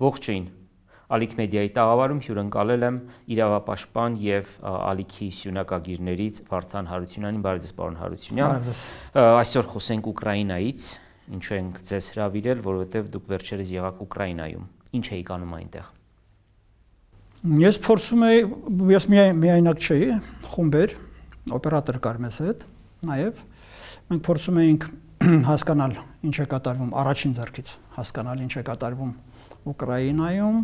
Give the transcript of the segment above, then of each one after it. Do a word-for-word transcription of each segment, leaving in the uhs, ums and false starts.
Ողջույն, Ալիք մեդիայի տաղավարում հյուրընկալել եմ իրավապաշտպան և ալիքի սյունակագիրներից Վարդան Հարությունյանին, բարև ձեզ պարոն Հարությունյան։ Այսօր խոսենք Ուկրաինայից, ինչու ենք ձեզ հրավիրել, որովհետև դուք վերջերս եղաք Ուկրաինայում, ինչ էիք անում այնտեղ։ Ես փորձում էի, ես միայնակ չէի, խումբ էր, օպերատոր կար մեզ հետ, նաև մենք փորձում էինք հասկանալ ինչ է կատարվում, առաջին ձեռքից հասկանալ ինչ է կատարվում Ուկրաինայում,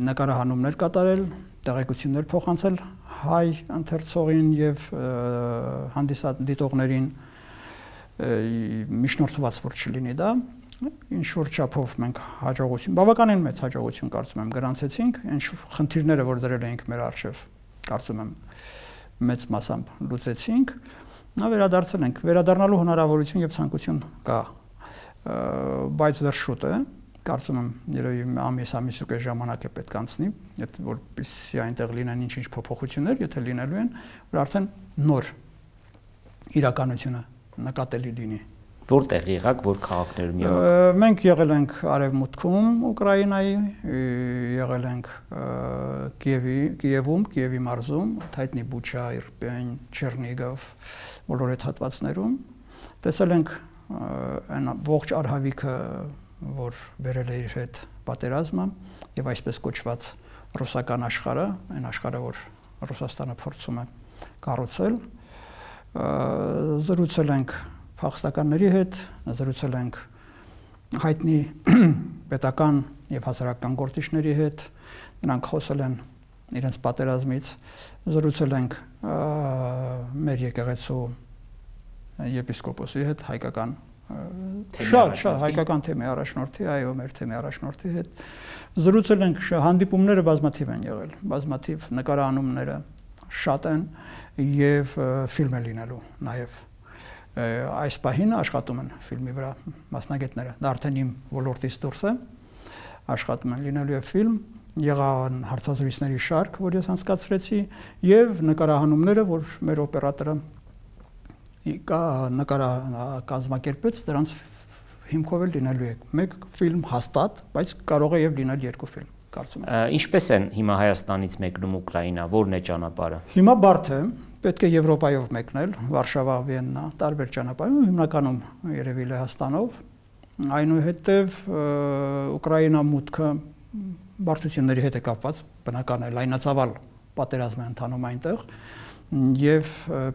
նկարահանումներ կատարել, տեղեկություններ փոխանցել հայ ընթերցողին և հանդիսադիտողներին, միջնորդված որ չլինի դա, ինչ-որ չափով մենք հաջողություն, բավականին մեծ հաջողություն կարծում եմ գրանցեցինք, ինչ խնդիրները, որ դրել էինք մեր առջև, կարծում եմ մեծ մասամբ լուծեցինք, նա վերադարձել ենք, վերադառնալու հնարավորություն և ցանկություն կա, բայց դեռ շուտ է, կարծում եմ երևի ամիս ամիս ու կես ժամանակ է պետք անցնի, որպեսզի այնտեղ լինեն ինչ-ինչ փոփոխություններ, եթե լինելու են, որ արդեն նոր իրականությունը նկատելի լինի։ Որտեղ եղաք, որ քաղաքներում եղաք։ Մենք եղել ենք Արևմուտքում Ուկրաինայի, եղել ենք Կիևում, Կիևի մարզում, հայտնի Բուչա, Իրպեն, Չեռնիգով, բոլոր այդ հատվածներում, տեսել ենք այն ողջ արհավիքը, որ բերել է իր հետ պատերազմը և այսպես կոչված ռուսական աշխարհը, այն աշխարհը, որ Ռուսաստանը փորձում է կառուցել, զրուցել ենք փախստականների հետ, զրուցել ենք հայտնի պետական և հասարակական գործիչների հետ, նրանք խոսել են իրենց պատերազմից, զրուցել ենք մեր եկեղեցու եպիսկոպոսի հետ, հայկական շատ շատ հայկական թեմի առաջնորդի, այո, մեր թեմի առաջնորդի հետ, զրուցել ենք, հանդիպումները բազմաթիվ են եղել, բազմաթիվ նկարահանումները շատ են և ֆիլմ է լինելու նաև այս պահին աշխատում են ֆիլմի վրա մասնագետները, դա արդեն իմ ոլորտից դուրս է, աշխատում են լինելու է ֆիլմ, եղան հարցազրույցների շարք, որ ես անցկացրեցի և նկարահանումները, որ մեր օպերատորը կազմակերպեց, դրանց հիմքով էլ լինելու է մեկ ֆիլմ հաստատ, բայց կարող է և լինել երկու ֆիլմ, կարծում եմ։ Ինչպես են հիմա Հայաստանից մեկնում Ուկրաինա, որն է ճանապարհը։ Հիմա բարդ է, պետք է Եվրոպայով մեկնել, Վարշավա, Վիեննա, տարբեր ճանապարհով, հիմնականում երևի Լեհաստանով, այնուհետև Ուկրաինա մուտքը բարդությունների հետ է կապված, բնական է, լայնածավալ պատերազմ է ընթանում այնտեղ և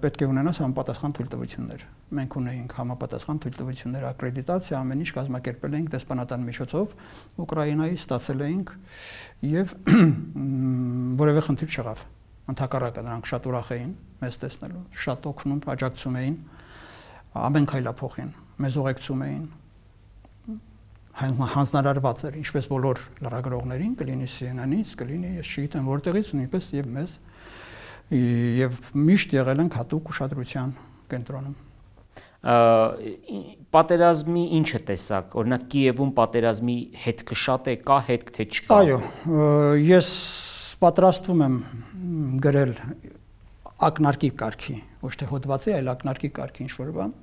պետք է ունենաս համապատասխան թույլտվություններ։ Մենք ունեինք համապատասխան թույլտվություններ, ակրեդիտացիա, ամեն ինչ կազմակերպել էինք դեսպանատան միջոցով, Ուկրաինայի ստացել էինք և որևէ խնդիր չեղավ։ Ընդհակառակը նրանք շատ ուրախ էին մեզ տեսնելու, շատ օգնում, աջակցում էին, ամեն քայլափոխին, մեզ ուղեկցում էին, հանձնարարված էր, ինչպես բոլոր լրագրողներին, կլինի Սի Էն Էն-ից, կլինի ես չգիտեմ որտեղից, նույնպես և մեզ, և միշտ եղել ենք հատուկ ուշադրության կենտրոնում։ Պատերազմի ինչը տեսակ, օրինակ Կիևում պատերազմի հետքը շատ է, կա հետք, թե չկա։ Այո, ես պատրաստվում եմ գրել ակնարկի կարգի, ոչ թե հոդվածի, այլ ակնարկի կարգի ինչ-որ բան։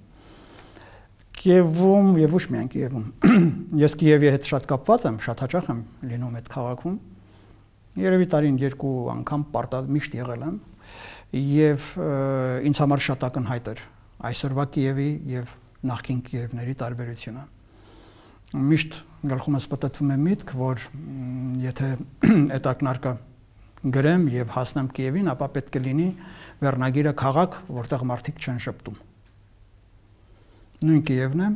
Կիևում և ոչ միայն Կիևում, ես Կիևի հետ շատ կապված եմ, շատ հաճախ եմ լինում այդ քաղաքում, երևի տարին երկու անգամ միշտ եղել եմ և ինձ համար շատ ակնհայտ էր այսօրվա Կիևի և նախկին Կիևների տարբերությունը։ Միշտ գլխումս պտտվում է միտք, որ եթե այդ ակնարկը գրեմ և հասնեմ Կիևին, ապա պետք է լինի վերնագիրը քաղաք, որտեղ մարդիկ չեն շպտում։ Նույն Կիևն է,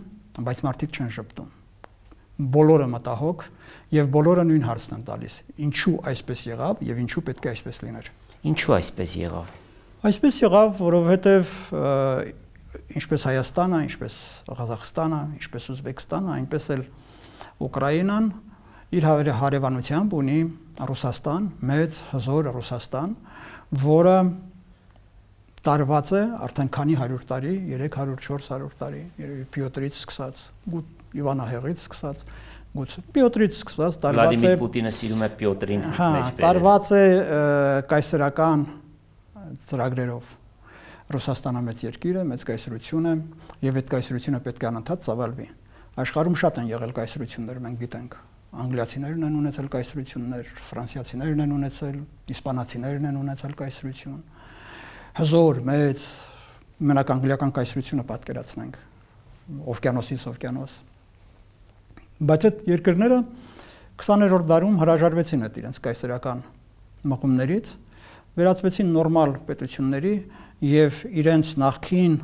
բայց մարդիկ չեն շպտում։ Բոլորը մտահոգ և բոլորը նույն հարցն են տալիս. ինչու այսպես եղավ և ինչու պետք է այսպես լիներ։ Ինչու այսպես եղավ։ Այսպես եղավ, որովհետև ինչպես Հայաստանը, ինչպես Ղազախստանը, ինչպես Ուզբեկստանը, այնպես էլ Ուկրաինան իր հարևանությամբ ունի Ռուսաստան, մեծ հզոր Ռուսաստան, որը տարված է արդեն քանի հարյուր տարի, երեք հարյուր չորս հարյուր տարի, երևի Պյոտրից սկսած, Իվանահեղից սկսած, Պյոտրից սկսած տարված է։ Վլադիմիր Պուտինը սիրում է Պյոտրին մեջ բերել։ Տարված է կայսերական ծրագրերով։ Ռուսաստանը մեծ երկիր է, մեծ կայսրություն է, և այդ կայսրությունը պետք է անընդհատ ծավալվի։ Աշխարհում շատ են եղել կայսրություններ, մենք գիտենք, անգլիացիներն են ունեցել կայսրություններ, ֆրանսիացիներն են ունեցել, իսպանացիներն են ունեցել կայսրություն, հզոր, մեծ, մենակ անգլիական կայսրությունը պատկերացնենք, օվկիանոսից օվկիանոս։ Բայց այդ երկրները քսաներորդ դարում հրաժարվեցին այդ իրենց կայսերական մղումներից, վերածվեցին նորմալ պետությունների եւ իրենց նախքին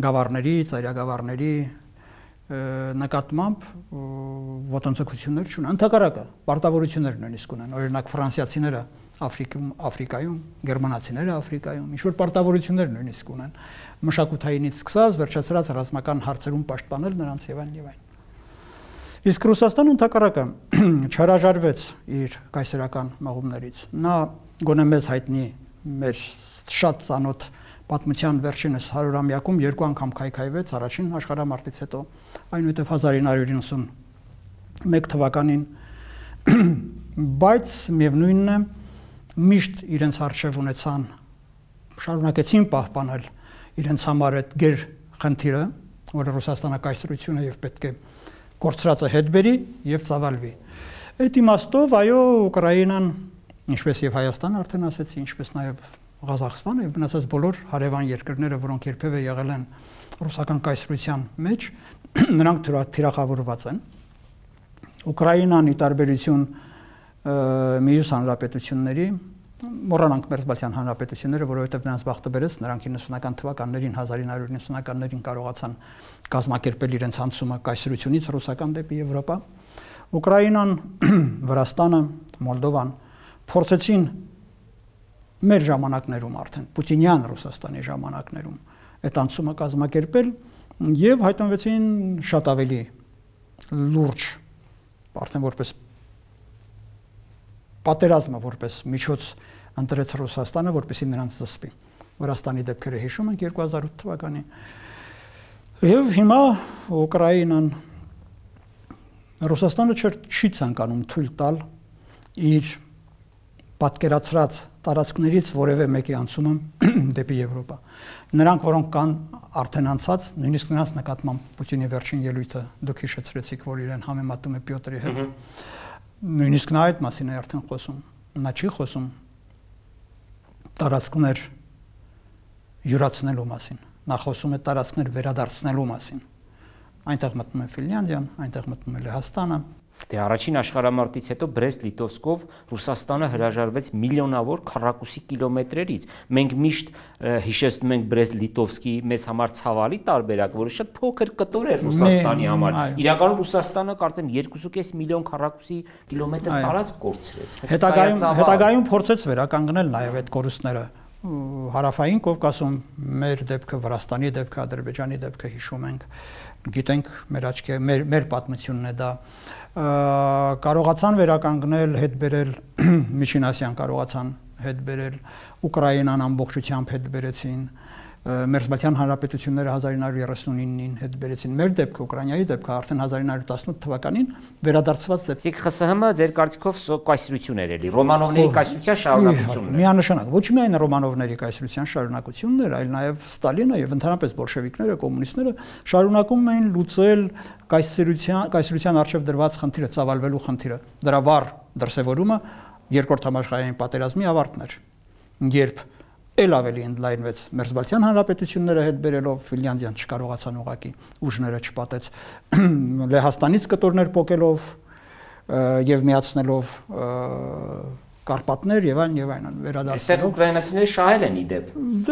գավառների, ծայրագավառների նկատմամբ ոտնձգություններ չունեն, ընդհակառակը պարտավորություններ նույնիսկ ունեն, օրինակ ֆրանսիացիները Աֆրիկայում, Աֆրիկայում, գերմանացիները Աֆրիկայում, ինչ որ պարտավորություններ նույնիսկ ունեն, մշակութայինից սկսած վերջացրած ռազմական հարցերում պաշտպանել նրանց եւ այլն եւ այլն։ Իսկ Ռուսաստանը ընդհակառակը չհրաժարվեց իր կայսերական մղումներից։ Նա գոնե մեզ հայտնի մեր շատ ծանոթ պատմության վերջինս հարյուրամյակում երկու անգամ քայքայվեց առաջին աշխարհամարտից հետո, այնուհետև հազար ինը հարյուր իննսունմեկ թվականին, բայց միևնույնն է միշտ իրենց արժև ունեցան, շարունակեցին պահպանել իրենց համար այդ գեր խնդիրը, որը Ռուսաստանը կայսրություն է եւ պետք է կորցրածը հետ բերի եւ ծավալվի։ Այդ իմաստով այո Ուկրաինան, ինչպես եւ Հայաստանը արդեն ասեցի, ինչպես նաեւ Ղազախստանը եւ մնացած բոլոր հարևան երկրները, որոնք երբևէ եղել են ռուսական կայսրության մեջ, նրանք թիրախավորված են։ Ուկրաինան ի տարբերություն մյուս հանրապետությունների, մոռանանք Մերձբալթյան հանրապետությունները, որովհետև նրանց բախտը բերեց, նրանք իննսունական թվականներին, հազար ինը հարյուր իննսունականներին կարողացան կազմակերպել իրենց անցումը կայսրությունից ռուսական դեպի Եվրոպա։ Ուկրաինան, Վրաստանը, Մոլդովան փորձեցին մեր ժամանակներում արդեն Պուտինյան Ռուսաստանի ժամանակներում այդ անցումը կազմակերպել եւ հայտնվեցին շատ ավելի լուրջ, արդեն որպես պատերազմը որպես միջոց ընտրեց Ռուսաստանը, որպեսզի նրանց զսպի։ Վրաստանի դեպքերը հիշում ենք երկու հազար ութ թվականին։ Եվ հիմա Ուկրաինան Ռուսաստանը չի ցանկանում թույլ տալ իր պատկերացրած տարածքներից որևէ մեկի անցումը դեպի Եվրոպա։ Նրանք, որոնք կան արդեն անցած, նույնիսկ նրանց նկատմամբ Պուտինի վերջին ելույթը դուք հիշեցրեցիք, որ իրեն համեմատում է Պյոտրի հետ։ Նույնիսկ նա այդ մասին է արդեն խոսում, նա չի խոսում տարածքներ յուրացնելու մասին, նա խոսում է տարածքներ վերադարձնելու մասին, այնտեղ մտնում է Ֆինլանդիան, այնտեղ մտնում է Լեհաստանը։ Դե առաջին աշխարհամարտից հետո Բրեստ-Լիտովսկով Ռուսաստանը հրաժարվեց միլիոնավոր քառակուսի կիլոմետրերից։ Մենք միշտ հիշեցնում ենք Բրեստ-Լիտովսկի մեզ համար ցավալի տարբերակ, որը շատ փոքր կտոր էր Ռուսաստանի համար։ Իրականում Ռուսաստանը կարծեմ երկու կես միլիոն քառակուսի կիլոմետր տարածք կորցրեց։ Հետագայում հետագայում փորձեց վերականգնել նաև այդ կորուստները։ Հարավային Կովկասում մեր դեպքը, Վրաստանի դեպքը, Ադրբեջանի դեպքը հիշում ենք, գիտենք մեր աչքի մեր մեր պատմությունն է դա, կարողացան վերականգնել, հետ բերել Միջին Ասիան, կարողացան հետ բերել, Ուկրաինան ամբողջությամբ հետ բերեցին, Մերձբալթյան հանրապետությունները հազար ինը հարյուր երեսունինին հետ բերեցին, մեր դեպքը, Ուկրաինայի դեպքը արդեն հազար ինը հարյուր տասնութ թվականին վերադարձված դեպք։ Իսկ ԽՍՀՄ ձեր կարծիքով կայսրություն էր էլի, Ռոմանովների կայսրության շարունակությունն է։ Միանշանակ, ոչ միայն Ռոմանովների կայսրության շարունակությունն էր, այլ նաև Ստալինը եւ ընդհանրապես բոլշևիկները, կոմունիստները շարունակում էին լուծել կայսրության կայսրության արժեվ դրված խնդիրը, ծավալվելու խնդիրը։ Դրա վառ դրսևորումը Երկրորդ համաշխարհային պատերազմի ավարտն էր, երբ էլ ավելի ընդլայնվեց Մերձբալթյան հանրապետությունները հետ բերելով, Ֆինլանդիան չկարողացան ուղղակի ուժները չպատեց, Լեհաստանից կտորներ պոկելով եւ միացնելով Կարպատներ եւ այլն եւ այլն վերադարձնելով։ Այստեղ ուկրաինացիները շահել են իդեպ։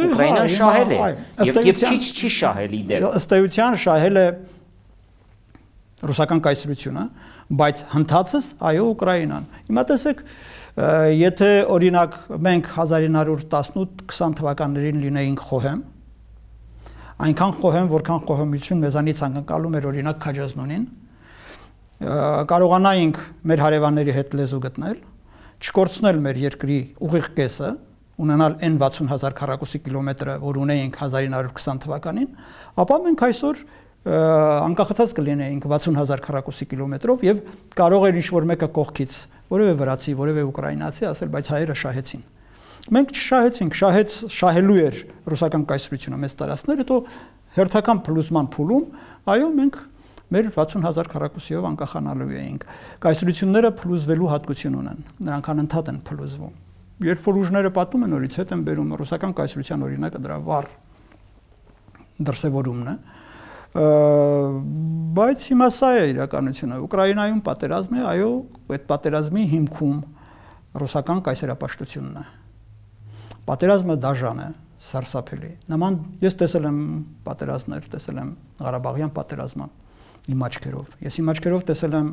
Ուկրաինան շահել է եւ եւ քիչ չի շահել իդեպ։ Ըստ էության շահել է ռուսական կայսրությունը, բայց հնդածս այո Ուկրաինան։ Հիմա տեսեք, եթե օրինակ մենք հազար ինը հարյուր տասնութ քսան թվականներին լինեինք խոհեմ, այնքան խոհեմ, որքան խոհեմություն մեզանից անկալում էր օրինակ Քաջազնունին, կարողանայինք մեր հարևանների հետ լեզու գտնել, չկորցնել մեր երկրի ուղիղ կեսը, ունենալ այն վաթսուն հազար քառակուսի կիլոմետրը, որ ունեինք հազար ինը հարյուր քսան թվականին, ապա մենք այսօր անկախացած կլինեինք վաթսուն հազար քառակուսի կիլոմետրով եւ կարող էր ինչ-որ մեկը կողքից, որևէ վրացի, որևէ ուկրաինացի ասել, բայց հայերը շահեցին։ Մենք չշահեցինք, շահեց, շահելու էր ռուսական կայսրությունը մեծ տարածքներ, հետո հերթական փլուզման փուլում, այո, մենք մեր վաթսուն հազար քառակուսիով անկախանալու էինք։ Կայսրությունները փլուզվելու հատկություն ունեն, նրանք անընդհատ են փլուզվում։ Երբ որ ուժները պատում են, նորից հետ են բերում ռուսական կայսրության օրինակը դրա վառ դրսևորումն է, բայց հիմա սա է իրականությունը։ Ուկրաինայում պատերազմ է, այո, այդ պատերազմի հիմքում ռուսական կայսերապաշտությունն է։ Պատերազմը դաժան է, սարսափելի։ Նման ես տեսել եմ պատերազմներ, տեսել եմ Ղարաբաղյան պատերազմը իմ աչքերով։ Ես իմ աչքերով տեսել եմ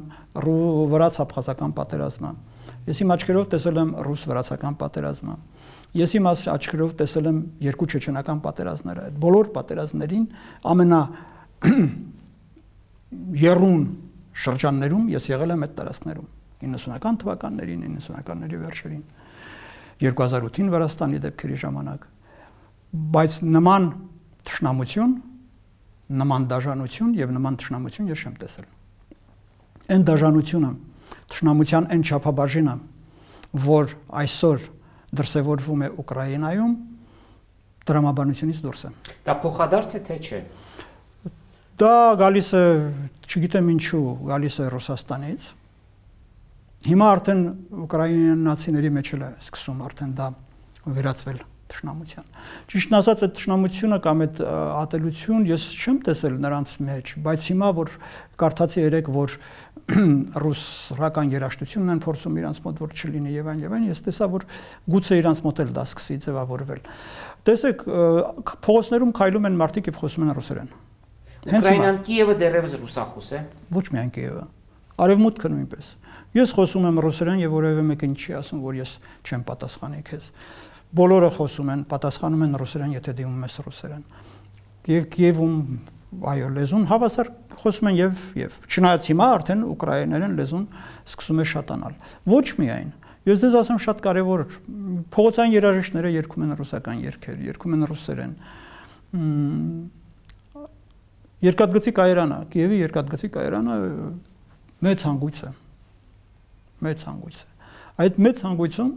վրաց-աբխազական պատերազմը։ Ես իմ աչքերով տեսել եմ ռուս-վրացական պատերազմը։ Ես իմ աչքերով տեսել եմ երկու չեչենական պատերազմները։ Այդ բոլոր պատերազմներին ամենա եռուն շրջաններում ես եղել եմ այդ տարածքներում իննսունական թվականներին, իննսունականների վերջերին, երկու հազար ութին Վրաստանի դեպքերի ժամանակ, բայց նման թշնամություն, նման դաժանություն եւ նման թշնամություն ես չեմ տեսել։ Այն դաժանությունը, թշնամության այն չափաբաժինը, որ այսօր դրսևորվում է Ուկրաինայում, տրամաբանությունից դուրս է։ Դա փոխադարձ է թե չէ։ Դա գալիս է, չգիտեմ ինչու, գալիս է Ռուսաստանից։ Հիմա արդեն ուկրաինացիների մեջ էլ է սկսում արդեն դա վերածվել թշնամության։ Ճիշտն ասած, այդ թշնամությունը կամ այդ ատելություն ես չեմ տեսել նրանց մեջ, բայց հիմա որ կարդացի երեք, որ ռուսական երաժշտությունն են փորձում իրանց մոտ որ չլինի եւ այն եւ այն, ես տեսա, որ գուցե իրանց մոտ էլ դա սկսի ձևավորվել։ Տեսեք, փողոցներում քայլում են մարդիկ եւ խոսում են ռուսերեն։ Ուկրաինան Կիևը դեռևս ռուսախոս է։ Ոչ միայն Կիևը, Արևմուտքը նույնպես։ Ես խոսում եմ ռուսերեն եւ որևէ մեկը չի ասում, որ ես չեմ պատասխանի քեզ։ Բոլորը խոսում են, պատասխանում են ռուսերեն, եթե դիմում ես ռուսերեն։ Եվ Կիևում այո լեզուն հավասար խոսում են եւ եւ չնայած հիմա արդեն ուկրաիներեն լեզուն սկսում է շատանալ։ Ոչ միայն, ես ձեզ ասեմ շատ կարեւոր, փողոցային երաժիշտները երգում են ռուսական երգեր, երգում են ռուսերեն։ Երկաթգծի կայարանը, Կիևի երկաթգծի կայարանը մեծ հանգույց է։ Մեծ հանգույց է։ Այդ մեծ հանգույցում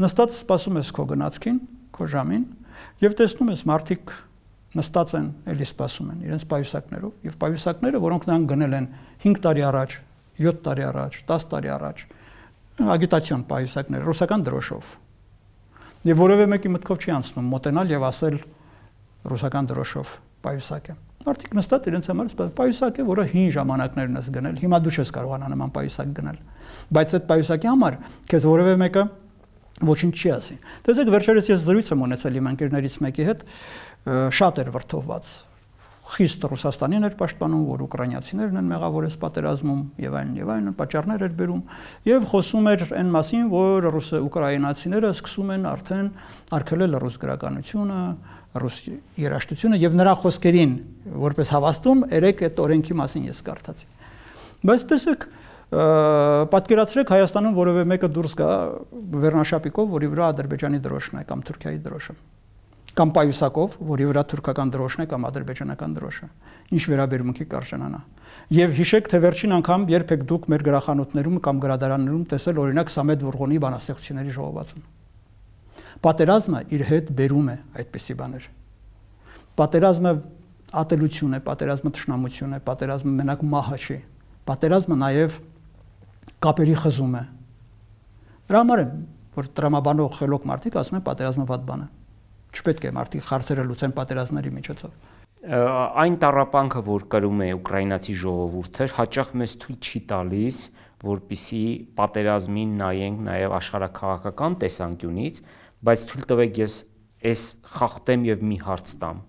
նստած սպասում ես քո գնացքին, քո ժամին, եւ տեսնում ես մարդիկ նստած են, էլի սպասում են իրենց պայուսակներով, եւ պայուսակները, որոնք նրանք գնել են հինգ տարի առաջ, յոթ տարի առաջ, տասը տարի առաջ, ագիտացիոն պայուսակներ, ռուսական դրոշով։ Եվ որևէ մեկի մտքով չի անցնում մոտենալ եւ ասել ռուսական դրոշով պայուսակ է։ Մարդիկ նստած իրենց համար պայուսակ է, որը հին ժամանակներն ես գնել, հիմա դու չես կարողանա նման պայուսակ գնել, բայց այդ պայուսակի համար քեզ որևէ մեկը ոչինչ չի ասի։ Տեսեք, վերջերս ես զրույց եմ ունեցել իմ ընկերներից մեկի հետ, շատ էր վրդովված, խիստ Ռուսաստանին էր պաշտպանում, որ ուկրաինացիներն են մեղավոր այս պատերազմում եւ այլն եւ այլն, պատճառներ էր բերում եւ խոսում էր այն մասին, որ ռուս ուկրաինացիները սկսում են արդեն արգելել ռուս գրականությունը, ռուս երաժշտությունը եւ նրա խոսքերին որպես հավաստում երեք այդ օրենքի մասին ես կարդացի։ Բայց տեսեք, պատկերացրեք Հայաստանում որևէ մեկը դուրս գա վերնաշապիկով, որի վրա Ադրբեջանի դրոշն է կամ Թուրքիայի դրոշը, կամ պայուսակով, որի վրա թուրքական դրոշն է կամ ադրբեջանական դրոշը, ինչ վերաբերմունքի կարժանանա։ Եվ հիշեք, թե վերջին անգամ երբ եք դուք մեր գրախանութներում կամ գրադարաններում տեսել օրինակ Սամեդ Վուրղոնի բանաստեղծությունների ժողովածուն։ Պատերազմը իր հետ բերում է այդպիսի բաներ։ Պատերազմը ատելություն է, պատերազմը թշնամություն է, պատերազմը մենակ մահը չի։ Պատերազմը նաև կապերի խզում է։ Դրա համար է, որ տրամաբանող խելոք մարդիկ ասում են պատերազմը վատ բան է։ Չպետք է մարդիկ հարցերը լուծեն պատերազմների միջոցով։ Այն տառապանքը, որ կրում է ուկրաինացի ժողովուրդը, հաճախ մեզ թույլ չի տալիս, որպիսի պատերազմին նայենք նաև աշխարհաքաղաքական տեսանկյունից, բայց թույլ տվեք ես այս խախտեմ եւ մի հարց տամ։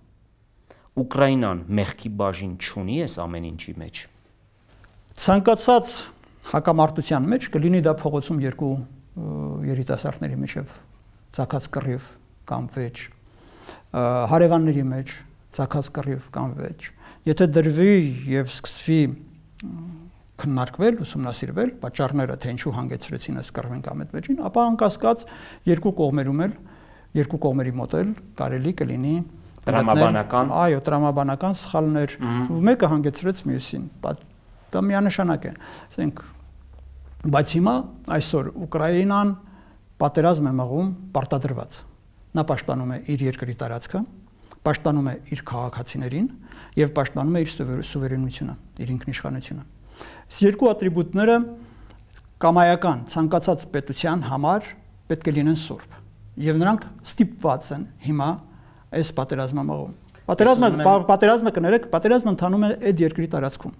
Ուկրաինան մեղքի բաժին չունի այս ամեն ինչի մեջ։ Ցանկացած հակամարտության մեջ կլինի դա փողոցում երկու երիտասարդների միջև ցակած կռիվ կամ վեճ, հարևանների մեջ ցակած կռիվ կամ վեճ։ Եթե դրվի եւ սկսվի քննարկվել, ուսումնասիրվել պատճառները, թե ինչու հանգեցրեցին այս կռվին կամ այդ վեճին, ապա անկասկած երկու կողմերում էլ, երկու կողմերի մոտ էլ կարելի կլինի տրամաբանական, այո, տրամաբանական սխալներ, մեկը հանգեցրեց մյուսին։ Դա միանշանակ է, ասենք, բայց հիմա այսօր Ուկրաինան պատերազմ է մղում պարտադրված։ Նա պաշտպանում է իր երկրի տարածքը, պաշտպանում է իր քաղաքացիներին եւ պաշտպանում է իր սուվերենությունը, իր ինքնիշխանությունը։ Այս երկու ատրիբուտները կամայական ցանկացած պետության համար պետք է լինեն սուրբ եւ նրանք ստիպված են հիմա այս պատերազմամաղում։ Պատերազմը պատերազմը կներեք, պատերազմը ընթանում է այդ երկրի տարածքում։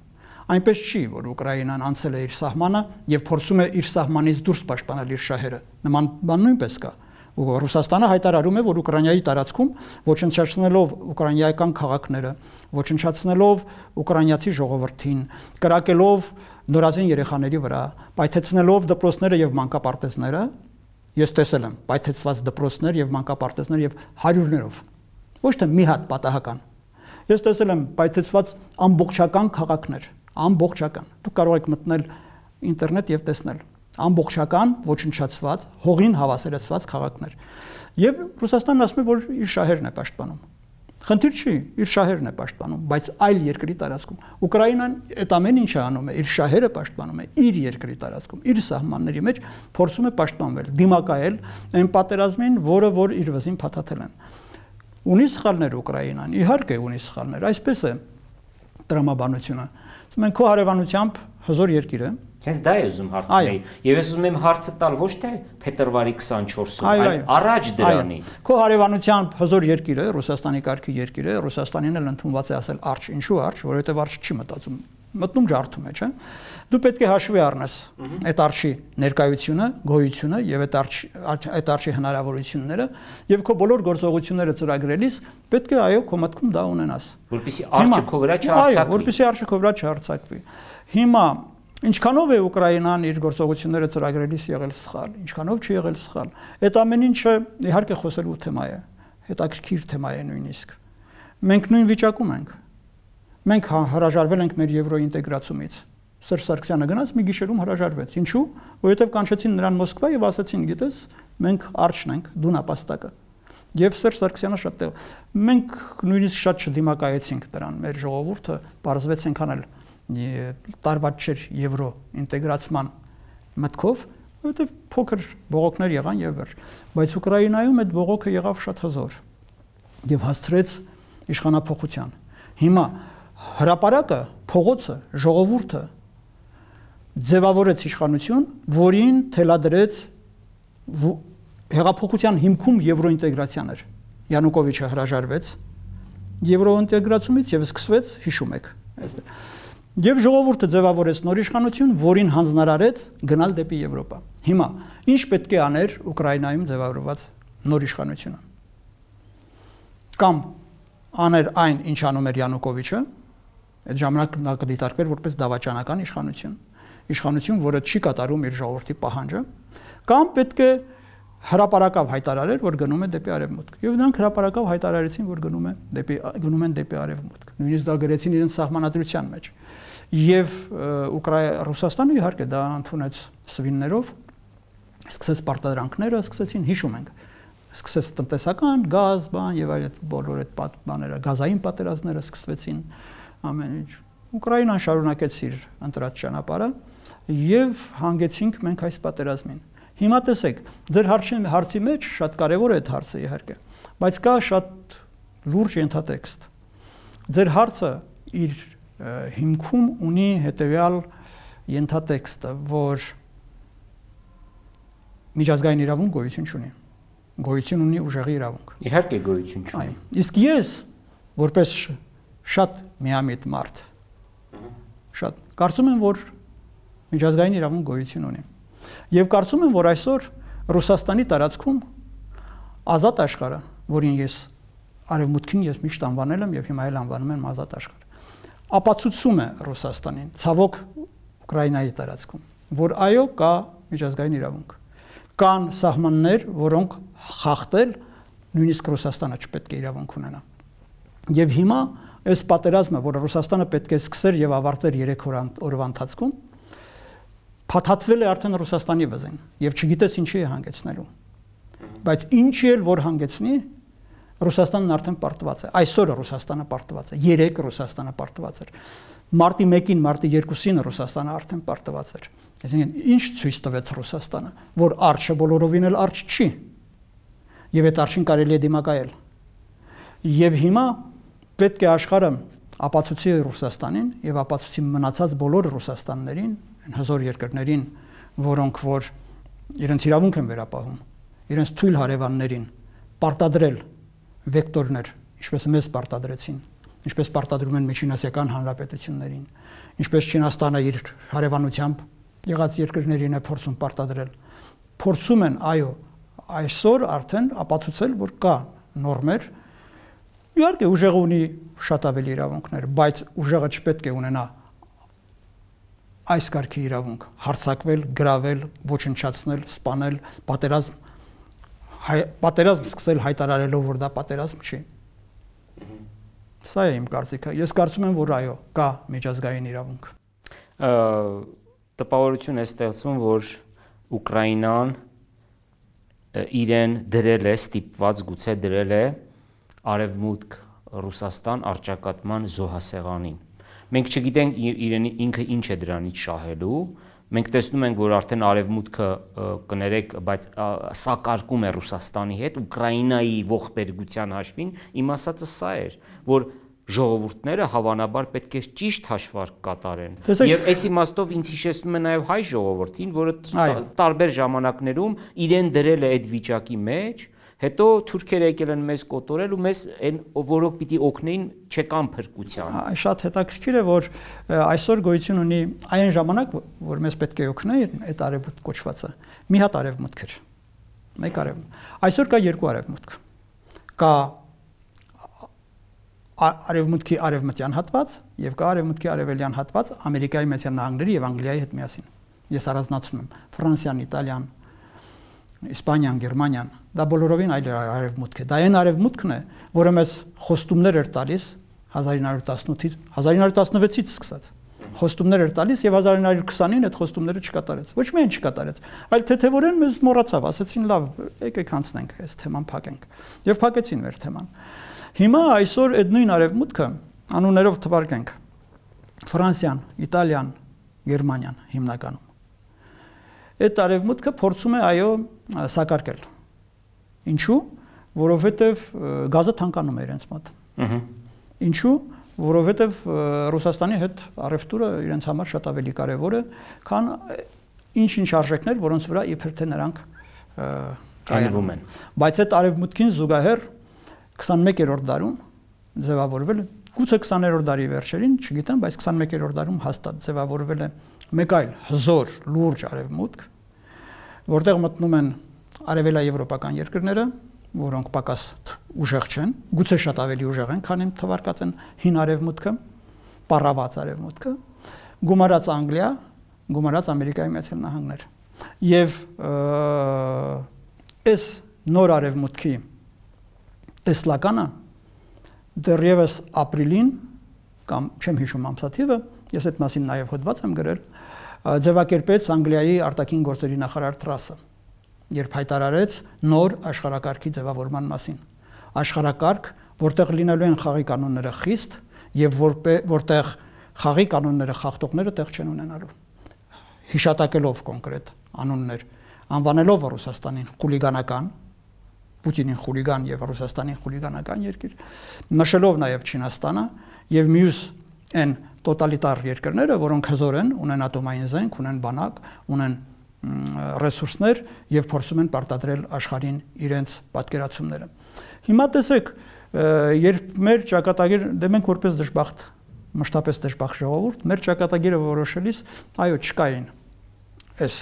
Այնպես չի, որ Ուկրաինան անցել է իր սահմանը եւ փորձում է իր սահմանից դուրս պաշտպանել իր շահերը։ Նման բան նույնպես կա։ Ռուսաստանը հայտարարում է, որ Ուկրաինայի տարածքում ոչնչացնելով ուկրաինական քաղաքները, ոչնչացնելով ուկրաինացի ժողովրդին, կրակելով նորածին երեխաների վրա, պայթեցնելով դպրոցները եւ մանկապարտեզները, ես տեսել եմ պայթեցված դպրոցներ եւ մանկապարտեզներ եւ հարյուրներով, ոչ թե մի հատ պատահական։ Ես տեսել եմ պայթեցված ամբողջական քաղաքներ, ամբողջական։ Դուք կարող եք մտնել ինտերնետ եւ տեսնել ամբողջական ոչնչացված, հողին հավասարեցված քաղաքներ։ Եվ Ռուսաստանն ասում է, որ իր շահերն է պաշտպանում։ Խնդիր չի, իր շահերն է պաշտպանում, բայց այլ երկրի տարածքում։ Ուկրաինան այդ ամեն ինչը անում է, իր շահերը պաշտպանում է իր երկրի տարածքում, իր սահմանների մեջ փորձում է պաշտպանվել, դիմակայել այն պատերազմին, որը որ իր վզին փաթաթել են։ Ունի սխալներ Ուկրաինան, իհարկե ունի սխալներ, այսպես է տրամաբանությունը։ Մենք քո հարևանությամբ հզոր երկիր է։ Հենց դա է ուզում հարցնել։ Եվ ես ուզում եմ հարցը տալ ոչ թե փետրվարի քսանչորսում, այլ առաջ դրանից։ Քո հարևանությամբ հզոր երկիր է, Ռուսաստանի կարգի երկիր է, Ռուսաստանին էլ ընդունված է ասել արջ, ինչու արջ, որովհետև արջ չի մտածում, մտնում ջարդում է, չէ՞։ Դու պետք է հաշվի առնես այդ արջի ներկայությունը, գոյությունը եւ այդ արջ այդ արջի հնարավորությունները եւ քո բոլոր գործողությունները ծրագրելիս պետք է այո քո մտքում դա ունենաս։ Որպեսզի արջը քո վրա չհարցակվի։ Այո, որպեսզի արջը քո վրա չհարցակվի։ Հիմա ինչքանով է Ուկրաինան իր գործողությունները ծրագրելիս եղել սխալ, ինչքանով չի եղել սխալ։ Այդ ամեն ինչը իհարկե խոսելու թեմա է, հետաքրքիր թեմա է նույնիսկ։ Մենք նույն վիճակում ենք։ Մենք հրաժարվել ենք մեր եվրոինտեգրացումից։ Սերժ Սարգսյանը գնաց մի գիշերում հրաժարվեց։ Ինչու՞։ Որովհետև կանչեցին նրան Մոսկվա եւ ասացին, գիտես, մենք արչն ենք, դու նապաստակը։ Եվ Սերժ Սարգսյանը շատ տեղ։ Մենք նույնիսկ շատ չդիմակայեցինք դրան, մեր ժողովուրդը բարձվեց այնքան էլ տարված չէր եվրո ինտեգրացման մտքով, որովհետև փոքր բողոքներ եղան եւ վերջ, բայց Ուկրաինայում այդ բողոքը եղավ շատ հզոր եւ հասցրեց իշխանափոխության։ Հիմա հրապարակը, փողոցը, ժողովուրդը ձևավորեց իշխանություն, որին թելադրեց հեղափոխության հիմքում եվրոինտեգրացիան էր։ Յանուկովիչը հրաժարվեց եվրոինտեգրացումից եւ սկսվեց, հիշում եք, Եվ ժողովուրդը ձևավորեց նոր իշխանություն, որին հանձնարարեց գնալ դեպի Եվրոպա։ Հիմա ինչ պետք է աներ Ուկրաինայում ձևավորված նոր իշխանությունը։ Կամ աներ այն, ինչ անում էր Յանուկովիչը, այդ ժամանակ նա կդիտարկվեր որպես դավաճանական իշխանություն, իշխանություն, որը չի կատարում իր ժողովրդի պահանջը, կամ պետք է հրապարակավ հայտարարեր, որ գնում է դեպի արևմուտք։ Եվ նրանք հրապարակավ հայտարարեցին, որ գնում է դեպի գնում են դեպի արևմուտք։ Նույնիսկ դա գրեցին իրենց սահմանադրության մեջ։ Եվ Ռուսաստանը իհարկե դա ընդունեց սվիններով, սկսեց պարտադրանքները, սկսեցին, հիշում ենք, սկսեց տնտեսական, գազ, բան եւ այդ բոլոր այդ բաները, գազային պատերազմները սկսվեցին, ամեն ինչ։ Ուկրաինան շարունակեց իր ընտրած ճանապարհը եւ հանգեցինք մենք այս պատերազմին։ Հիմա տեսեք, ձեր հարցի հարցի մեջ շատ կարևոր է այդ հարցը իհարկե, բայց կա շատ լուրջ ենթատեքստ։ Ձեր հարցը իր հիմքում ունի հետևյալ ենթատեքստը, որ միջազգային իրավունք գոյություն չունի։ Գոյություն ունի ուժեղի իրավունք։ Իհարկե գոյություն չունի։ Իսկ ես, որպես շատ միամիտ մարդ, շատ կարծում եմ, որ միջազգային իրավունք գոյություն ունի։ Եվ կարծում եմ, որ այսօր Ռուսաստանի տարածքում ազատ աշխարհը, որին ես արևմուտքին ես միշտ անվանել եմ եւ հիմա էլ անվանում եմ ազատ աշխարհ, ապացուցում է Ռուսաստանին, ցավոք Ուկրաինայի տարածքում, որ այո կա միջազգային իրավունք։ Կան սահմաններ, որոնք խախտել նույնիսկ Ռուսաստանը չպետք է իրավունք ունենա։ Եվ հիմա այս պատերազմը, որը Ռուսաստանը պետք է սկսեր եւ ավարտեր երեք օրվա ընթացքում, փաթաթվել է արդեն Ռուսաստանի վզին եւ չգիտես ինչի է հանգեցնելու։ Բայց ինչի էլ որ հանգեցնի, Ռուսաստանն արդեն պարտված է։ Այսօր Ռուսաստանը պարտված է, երեք Ռուսաստանը պարտված էր։ Մարտի մեկին, մարտի երկուսին Ռուսաստանը արդեն պարտված էր։ Այսինքն ինչ ցույց տվեց Ռուսաստանը, որ արջը բոլորովին էլ արջ չի։ Եվ այդ արջին կարելի է դիմակայել։ Եվ հիմա պետք է աշխարհը ապացուցի Ռուսաստանին եւ ապացուցի մնացած բոլոր Ռուսաստաններին, հզոր երկրներին, որոնք որ իրենց իրավունք են վերապահում, իրենց թույլ հարևաններին պարտադրել վեկտորներ, ինչպես մեզ պարտադրեցին, ինչպես պարտադրում են Միջինասիական հանրապետություններին, ինչպես Չինաստանը իր հարևանությամբ եղած երկրներին է փորձում պարտադրել, փորձում են, այո, այսօր արդեն ապացուցել, որ կա նորմեր, իհարկե ուժեղը ունի շատ ավելի իրավունքներ, բայց ուժեղը չպետք է ունենա այս կարգի իրավունք, հարձակվել, գրավել, ոչնչացնել, սպանել, պատերազմ, պատերազմ սկսել հայտարարելով, որ դա պատերազմ չի։ Սա է իմ կարծիքը։ Ես կարծում եմ, որ այո, կա միջազգային իրավունք։ Տպավորություն է ստեղծվում, որ Ուկրաինան իրեն դրել է, ստիպված գուցե դրել է Արևմուտք Ռուսաստան առճակատման զոհասեղանին։ Մենք չգիտենք իրեն ինքը ինչ է դրանից շահելու, մենք տեսնում ենք, որ արդեն Արևմուտքը կներեք, բայց սակարկում է Ռուսաստանի հետ, Ուկրաինայի ողբերգության հաշվին, իմ ասածը սա էր, որ ժողովուրդները հավանաբար պետք է ճիշտ հաշվարկ կատարեն։ Եվ այս իմաստով ինձ հիշեցնում է նաև հայ ժողովրդին, որը տարբեր ժամանակներում իրեն դրել է այդ վիճակի մեջ, հետո թուրքերը եկել են մեզ կոտորել ու մեզ այն որոնք պիտի օգնեին չեկան փրկության։ Շատ հետաքրքիր է, որ այսօր գոյություն ունի այն ժամանակ, որ մեզ պետք է օգնեին այդ արևմուտք կոչվածը։ Մի հատ արևմուտք էր։ Մեկ արևմուտք։ Այսօր կա երկու արևմուտք։ Կա արևմուտքի արևմտյան հատված եւ կա արևմուտքի արևելյան հատված Ամերիկայի Միացյալ Նահանգների եւ Անգլիայի հետ միասին։ Ես առանձնացնում եմ Ֆրանսիան, Իտալիան, Իսպանիան, Գերմանիան, դա բոլորովին այլ արևմուտք է։ Դա այն արևմուտքն է, որը մեզ խոստումներ էր տալիս հազար ինը հարյուր տասնութից, հազար ինը հարյուր տասնվեցից սկսած։ Խոստումներ էր տալիս եւ հազար ինը հարյուր քսանին այդ խոստումները չկատարեց։ Ոչ միայն չկատարեց, այլ թեթևորեն մեզ մոռացավ, ասեցին լավ, եկեք անցնենք, այս թեման փակենք։ Եվ փակեցին մեր թեման։ Հիմա այսօր այդ նույն արևմուտքը անուններով թվարկենք Ֆրանսիան, Իտալիան, Գերմանիան հիմնականում։ Այդ արևմուտքը փորձում է այո սակարկել։ Ինչու՞, որովհետև գազը թանկանում է իրենց մոտ։ Ինչու՞, որովհետև Ռուսաստանի հետ առևտուրը իրենց համար շատ ավելի կարևոր է, քան ինչ-ինչ արժեքներ, որոնց վրա իբր թե նրանք կայանում են։ Բայց այդ արևմուտքին զուգահեռ քսանմեկերորդ դարում ձևավորվել է, գուցե քսաներորդ դարի վերջերին, չգիտեմ, բայց քսանմեկերորդ դարում հաստատ ձևավորվել է մեկ այլ հզոր լուրջ արևմուտք, որտեղ մտնում են արևելաեվրոպական երկրները, որոնք պակաս ուժեղ չեն, գուցե շատ ավելի ուժեղ են, քան իմ թվարկած են հին արևմուտքը, պառաված արևմուտքը, գումարած Անգլիա, գումարած Ամերիկայի Միացյալ Նահանգներ։ Եվ այս նոր արևմուտքի տեսլականը դեռևս ապրիլին կամ չեմ հիշում ամսաթիվը, ես այդ մասին նաև հոդված եմ գրել, ձևակերպեց Անգլիայի արտաքին գործերի նախարար Թրասը, երբ հայտարարեց նոր աշխարհակարգի ձևավորման մասին։ Աշխարհակարգ, որտեղ լինելու են խաղի կանոնները խիստ եւ որտեղ խաղի կանոնները խախտողները տեղ չեն ունենալու։ Հիշատակելով կոնկրետ անուններ, անվանելով Ռուսաստանին խուլիգանական, Պուտինին խուլիգան եւ Ռուսաստանին խուլիգանական երկիր, նշելով նաեւ Չինաստանը եւ մյուս այն տոտալիտար երկրները, որոնք հզոր են, ունեն ատոմային զենք, ունեն բանակ, ունեն ռեսուրսներ եւ փորձում են պարտադրել աշխարհին իրենց պատկերացումները։ Հիմա տեսեք, երբ մեր ճակատագիր, դե մենք որպես դժբախտ, մշտապես դժբախտ ժողովուրդ, մեր ճակատագիրը որոշելիս, այո, չկային այս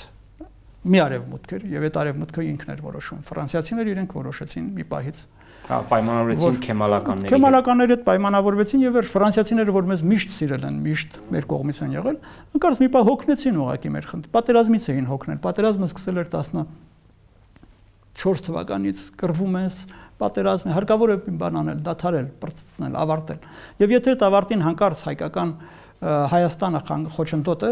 մի արևմուտք էր եւ այդ արևմուտքը ինքն էր որոշում։ Ֆրանսիացիները իրենք որոշեցին մի պահից։ Հա, պայմանավորվեցին քեմալականների։ Քեմալականների հետ պայմանավորվեցին եւ ֆրանսիացիները, որ մեզ միշտ սիրել են, միշտ մեր կողմից են եղել, անկարծ մի պահ հոգնեցին ուղակի մեր խնդրը։ Պատերազմից էին հոգնել։ Պատերազմը սկսել էր տասնչորս թվականից, կռվում ես, պատերազմ է, հարկավոր է բան անել, դադարել, բրծեցնել, ավարտել։ Եվ եթե այդ ավարտին հանկարծ հայկական Հայաստանը խոչընդոտ է,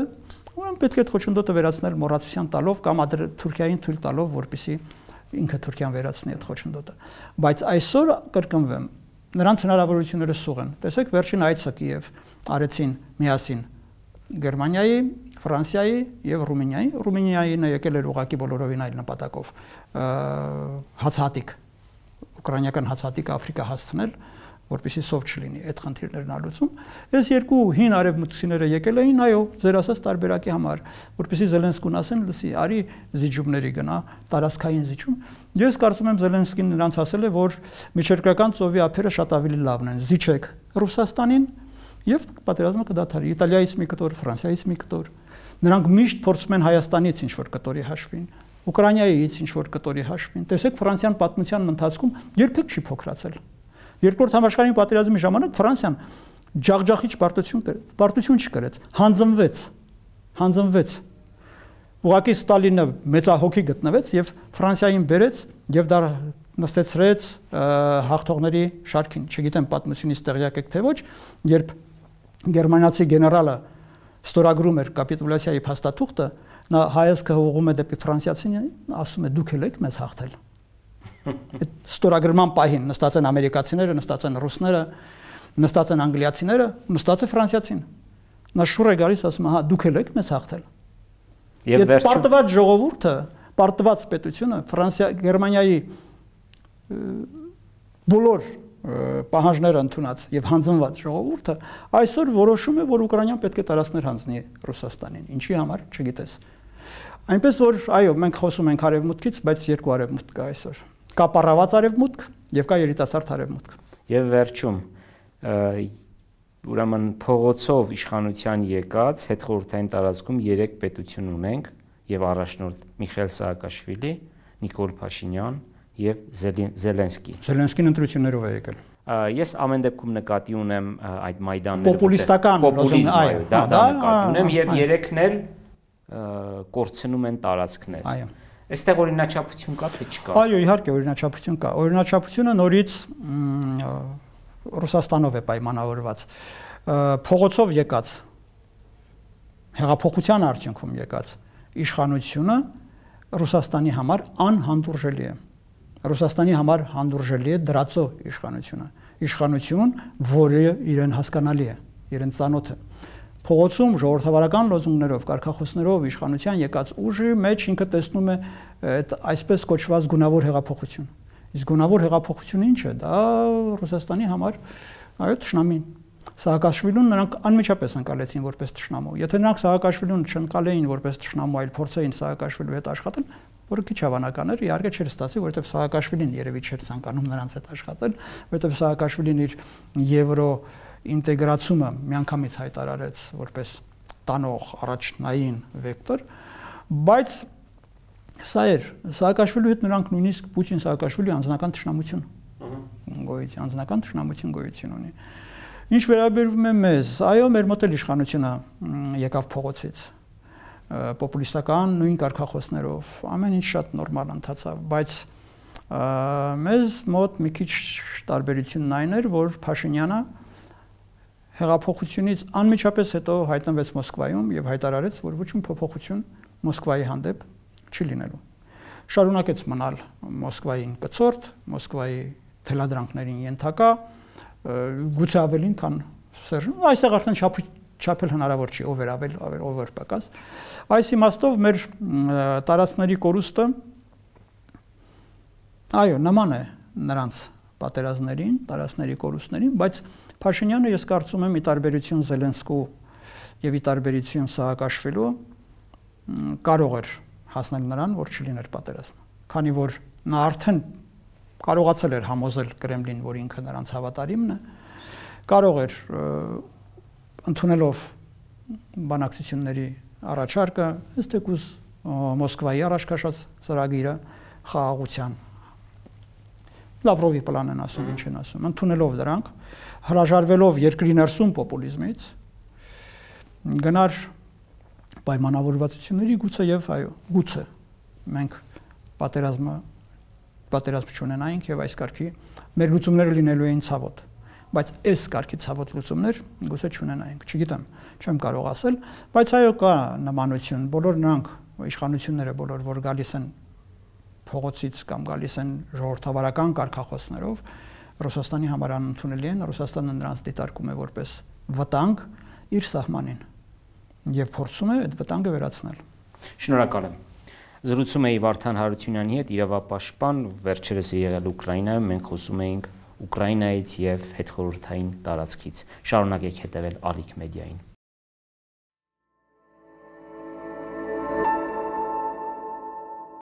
ուրեմն պետք է այդ խոչընդոտը վերացնել մոռացության տալով կամ Թուրքիային թույլ տալով, որպեսզի ինքը Թուրքիան վերացնի այդ խոչընդոտը։ Բայց այսօր կրկնվեմ, նրանց հնարավորությունները սուղ են։ Տեսեք, վերջին այցը Կիև արեցին միասին Գերմանիայի, Ֆրանսիայի եւ Ռումինիայի։ Ռումինիային եկել էր ուղակի բոլորովին այլ նպատակով, հացահատիկ ուկրաինական հացատիկ Աֆրիկա հասցնել, որպեսզի սով չլինի այդ խնդիրներն ալուծում։ Այս երկու հին արևմուտքցիները եկել էին, այո, ձեր ասած տարբերակի համար, որպեսզի Զելենսկուն ասեն, լսի, արի զիջումների գնա, տարածքային զիջում։ Ես կարծում եմ Զելենսկին նրանց ասել է, որ միջերկրական ծովի ափերը շատ ավելի լավն են, զիջեք Ռուսաստանին եւ պատերազմը կդադարի։ Իտալիայից մի կտոր, Ֆրանսիայից մի կտոր։ Նրանք միշտ փորձում են Հայաստանից ինչ որ կտորի հաշվին, Ուկրաինայից ինչ որ կտորի հաշվին։ Տեսեք Ֆրանսիան պատմության ընթացքում երբեք չի փոքրացել։ Երկրորդ համաշխարհային պատերազմի ժամանակ Ֆրանսիան ջախջախիչ պարտություն պարտություն չկրեց, հանձնվեց, հանձնվեց։ Ուղղակի Ստալինը մեծահոգի գտնվեց եւ Ֆրանսիային բերեց եւ դա նստեցրեց հաղթողների շարքին։ Չգիտեմ պատմությունից տեղյակ եք թե ոչ, երբ գերմանացի գեներալը ստորագրում էր կապիտուլյացիայի փաստաթուղթը, նա հայացքը ուղղում է դեպի ֆրանսիացին, ասում է դուք եք մեզ հաղթել։ Այդ ստորագրման պահին նստած են ամերիկացիները, նստած են ռուսները, նստած են անգլիացիները, նստած է ֆրանսիացին։ Նա շուռ է գալիս, ասում է, հա, դուք եք մեզ հաղթել։ Եվ պարտված ժողովուրդը, պարտված պետությունը Ֆրանսիա, Գերմանիայի բոլոր պահանջները ընդունած եւ հանձնված ժողովուրդը այսօր որոշում է, որ Ուկրաինան պետք է տարածքներ հանձնի Ռուսաստանին։ Ինչի համար, չգիտես։ Այնպես որ, այո, մենք խոսում ենք արևմուտքից, բայց երկու արևմուտք կա այսօր։ Կա պարաված արևմուտք եւ կա երիտասարդ արևմուտք։ Եվ վերջում ուրեմն փողոցով իշխանության եկած հետխորհրդային տարածքում երեք պետություն ունենք եւ առաջնորդ Միխայել Սաակաշվիլի, Նիկոլ Փաշինյան եւ Զելենսկի։ Զելենսկին ընտրություններով է եկել։ Ես ամեն դեպքում նկատի ունեմ այդ մայդանները պոպուլիստական պոպուլիզմ, այո, դա դա նկատի ունեմ եւ երեքն էլ կորցնում են տարածքներ։ Այո։ Այստեղ օրինաչափություն կա թե չկա։ Այո, իհարկե օրինաչափություն կա։ Օրինաչափությունը նորից Ռուսաստանով է պայմանավորված։ Փողոցով եկած հեղափոխության արդյունքում եկած իշխանությունը Ռուսաստանի համար անհանդուրժելի է։ Ռուսաստանի համար հանդուրժելի է դրածո իշխանությունը։ Իշխանություն, որը իրեն հասկանալի է, իրեն ծանոթ է։ Փողոցում ժողովրդավարական լոզունգներով, կարգախոսներով իշխանության եկած ուժի մեջ ինքը տեսնում է այդ այսպես կոչված գունավոր հեղափոխություն։ Իսկ գունավոր հեղափոխությունը ինչ է։ Դա Ռուսաստանի համար այո թշնամին։ Սաակաշվիլուն նրանք անմիջապես ընկալեցին որպես թշնամու։ Եթե նրանք Սաակաշվիլուն չընկալեին որպես թշնամու, այլ փորձեին Սաակաշվիլու հետ աշխատել, որը քիչ հավանական էր, իհարկե չէր ստացի, որովհետև Սաակաշվիլին երևի չէր ցանկանում նրանց հետ աշխատել, որովհետև Սաակաշվիլին իր եվրո ինտեգրացումը միանգամից հայտարարեց որպես տանող առաջնային վեկտոր, բայց սա էր Սաակաշվիլու հետ նրանք նույնիսկ Պուտին Սաակաշվիլի անձնական թշնամություն գոյություն, անձնական թշնամություն գոյություն ունի։ Ինչ վերաբերում է մեզ, այո, մեր մոտ էլ իշխանությունը եկավ փողոցից, պոպուլիստական նույն կարգախոսներով, ամեն ինչ շատ նորմալ ընթացավ, բայց մեզ մոտ մի քիչ տարբերությունն այն էր, որ Փաշինյանը հեղափոխությունից անմիջապես հետո հայտնվեց Մոսկվայում եւ հայտարարեց, որ ոչ մի փոփոխություն Մոսկվայի հանդեպ չի լինելու։ Շարունակեց մնալ Մոսկվային կցորդ, Մոսկվայի թելադրանքներին ենթակա, գուցե ավելին, քան Սերժն, այստեղ արդեն չափել հնարավոր չի, ով էր ավել, ով էր պակաս։ Այս իմաստով մեր տարածքների կորուստը այո, նման է նրանց պատերազմներին, տարածքների կորուստներին, բայց Փաշինյանը ես կարծում եմ ի տարբերություն Զելենսկու եւ ի տարբերություն Սաակաշվիլու կարող էր հասնել նրան, որ չլիներ պատերազմ, քանի որ նա արդեն կարողացել էր համոզել Կրեմլին, որ ինքը նրանց հավատարիմն է, կարող էր ընդունելով բանակցությունների առաջարկը, ըստ եկուս Մոսկվայի առաջ քաշած ծրագիրը խաղաղության Լավրովի պլանն են ասում, ինչ են ասում, ընդունելով դրանք, հրաժարվելով երկրի ներսում պոպուլիզմից, գնար պայմանավորվածությունների գուցե եւ այո, գուցե մենք պատերազմը պատերազմ չունենայինք եւ այս կարգի մեր լուծումները լինելու էին ցավոտ, բայց այս կարգի ցավոտ լուծումներ գուցե չունենայինք, չգիտեմ, չեմ կարող ասել, բայց այո կա նմանություն, բոլոր նրանք իշխանությունները բոլոր որ գալիս են փողոցից կամ գալիս են ժողովրդավարական կարգախոսներով Ռուսաստանի համար անընդունելի են, Ռուսաստանը նրանց դիտարկում է որպես վտանգ իր սահմանին եւ փորձում է այդ վտանգը վերացնել։ Շնորհակալ եմ։ Զրուցում էի Վարդան Հարությունյանի հետ, իրավապաշտպան, վերջերս եղել Ուկրաինայում, մենք խոսում էինք Ուկրաինայից եւ հետխորհրդային տարածքից։ Շարունակեք հետևել Ալիք մեդիային։